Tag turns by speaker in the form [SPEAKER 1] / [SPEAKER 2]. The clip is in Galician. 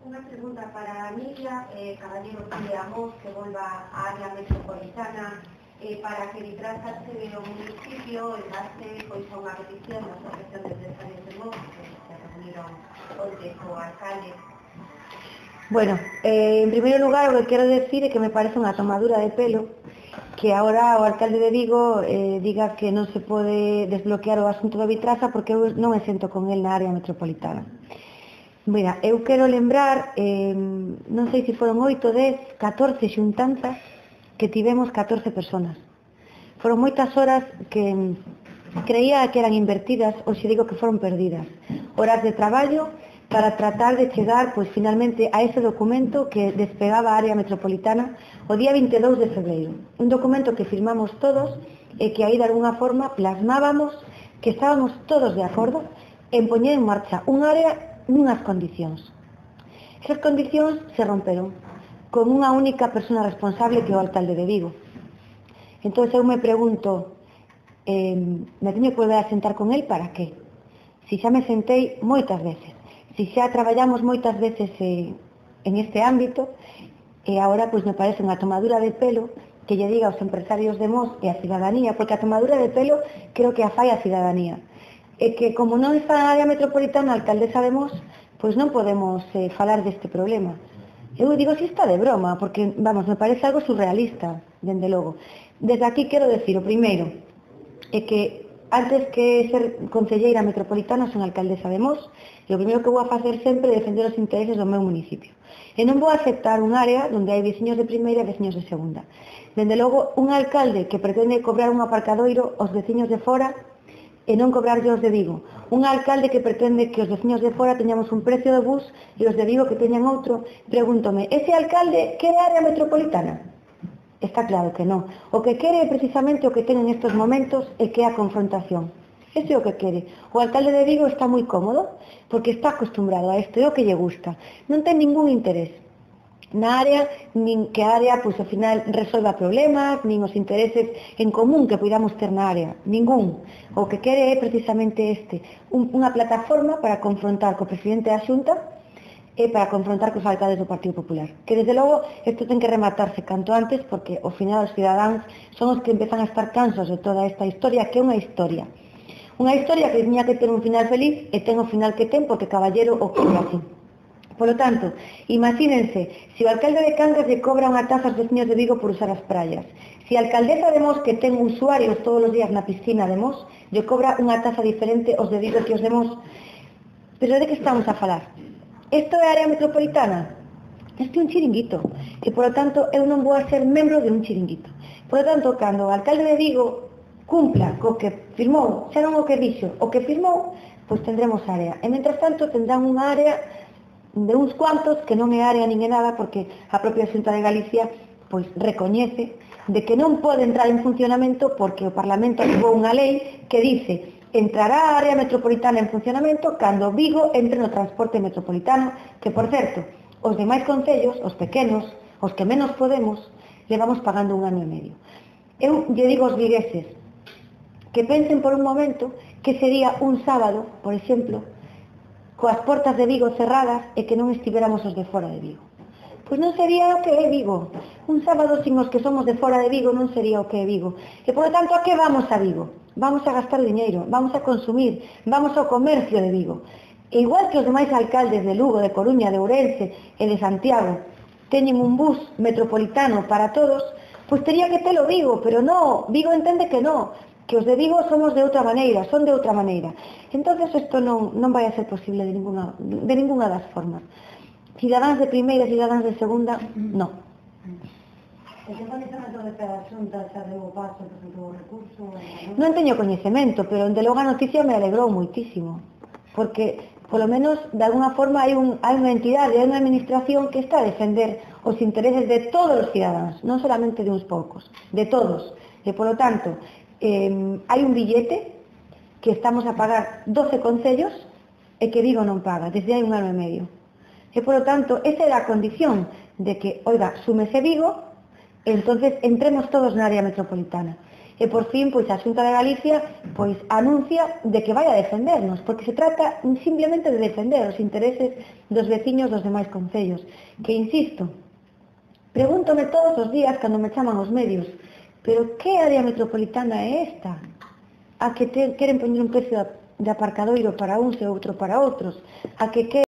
[SPEAKER 1] Unha pregunta para a Emilia Caballero Amos, que volva á área metropolitana para que Vitraza se o municipio en base pois a unha petición da Asociación de Empresarios de Mos, que se reuniron onte co alcalde.
[SPEAKER 2] Bueno, en primeiro lugar o que quero decir é que me parece unha tomadura de pelo que agora o alcalde de Vigo diga que non se pode desbloquear o asunto da Vitraza porque eu non me sento con el na área metropolitana. Mira, eu quero lembrar, non sei se foron 8, 10, 14 xuntanzas que tivemos 14 personas. Foron moitas horas que creía que eran invertidas, ou se digo que foron perdidas. Horas de traballo para tratar de chegar, pois, finalmente a ese documento que despegaba a área metropolitana o día 22 de febreiro. Un documento que firmamos todos e que aí de alguna forma plasmábamos que estábamos todos de acordo en poñer en marcha un área nunhas condicións. Esas condicións se romperon con unha única persona responsable que é o alcalde de Vigo. Entón eu me pregunto, me teño que volver a sentar con el para qué? Si xa me sentei moitas veces, si xa traballamos moitas veces en este ámbito, e agora pois me parece unha tomadura de pelo que lle diga aos empresarios de Mos e a cidadanía, porque a tomadura de pelo creo que a fai a cidadanía. É que como non está na área metropolitana a alcaldesa de Mos, pois non podemos falar deste problema. Eu digo si está de broma, porque, vamos, me parece algo surrealista, dende logo. Desde aquí quero decir, o primeiro, é que antes que ser concelleira metropolitana son alcaldesa de Mos, e o primeiro que vou a facer sempre é defender os intereses do meu municipio. E non vou a aceptar un área onde hai veciños de primeira e veciños de segunda. Dende logo, un alcalde que pretende cobrar un aparcadoiro aos veciños de fora e non cobrarlle os de Vigo. Un alcalde que pretende que os veciños de fora teñamos un precio de bus e os de Vigo que teñan outro. Pregúntome, ese alcalde quere área metropolitana? Está claro que non. O que quere é precisamente o que ten en estes momentos e que é a confrontación. Ese é o que quere. O alcalde de Vigo está moi cómodo porque está acostumbrado a isto, é o que lle gusta. Non ten ningún interés na área, nin que a área, pois, ao final, resolva problemas, nin os intereses en común que podamos ter na área, ningún. O que quere é precisamente unha plataforma para confrontar co presidente da Xunta e para confrontar cos alcaldes do Partido Popular. Que, desde logo, isto ten que rematarse canto antes, porque, ao final, os cidadáns son os que empezan a estar cansos de toda esta historia, que é unha historia. Unha historia que tiña que ter un final feliz e ten o final que ten porque Caballero o quere así. Por lo tanto, imagínense, se o alcalde de Cangas lle cobra unha taxa aos veciños de Vigo por usar as praias, se a alcaldesa de Mos, que ten usuarios todos os días na piscina de Mos, lle cobra unha taxa diferente aos de Vigo que os de Mos, pero de que estamos a falar? Isto é área metropolitana? Isto é un chiringuito, e por lo tanto eu non vou a ser membro de un chiringuito. Por lo tanto, cando o alcalde de Vigo cumpla co que firmou, xa non o que dixo, o que firmou, pois tendremos área. E, mentras tanto, tendrán unha área de uns cuantos que non é área nin é nada porque a propia Xunta de Galicia pois recoñece de que non pode entrar en funcionamento porque o Parlamento aprobou unha lei que dice entrará a área metropolitana en funcionamento cando Vigo entre no transporte metropolitano, que por certo, os demais concellos, os pequenos, os que menos podemos, le vamos pagando un ano e medio. Eu lle digo aos vigueses que pensen por un momento que sería un sábado, por exemplo, coas portas de Vigo cerradas e que non estivéramos os de fora de Vigo. Pois non sería o que é Vigo. Un sábado sin os que somos de fora de Vigo non sería o que é Vigo. E, por lo tanto, a que vamos a Vigo? Vamos a gastar diñeiro, vamos a consumir, vamos ao comercio de Vigo. E igual que os demais alcaldes de Lugo, de Coruña, de Ourense e de Santiago teñen un bus metropolitano para todos, pois tería que telo Vigo, pero non, Vigo entende que non, que os de Vigo somos de outra maneira, son de outra maneira. Entonces isto non vai a ser posible de ninguna das formas. Cidadáns de primeira, cidadáns de segunda, non. Non teño coñecemento, pero de logo a noticia me alegrou moitísimo, porque, polo menos, de alguna forma hai unha entidade, hai unha administración que está a defender os intereses de todos os cidadáns, non solamente de uns poucos, de todos. E, polo tanto, hai un billete que estamos a pagar 12 concellos e que Vigo non paga desde hai un ano e medio. E, polo tanto, esa era a condición de que, oiga, súmese Vigo e entonces entremos todos na área metropolitana. E por fin, pois a Xunta de Galicia pois anuncia de que vai a defendernos, porque se trata simplemente de defender os intereses dos veciños dos demais concellos. Que insisto, pregúntome todos os días cando me chaman os medios, pero que área metropolitana é esta? A que queren poñer un precio de aparcadoiro para uns e outro para outros, a que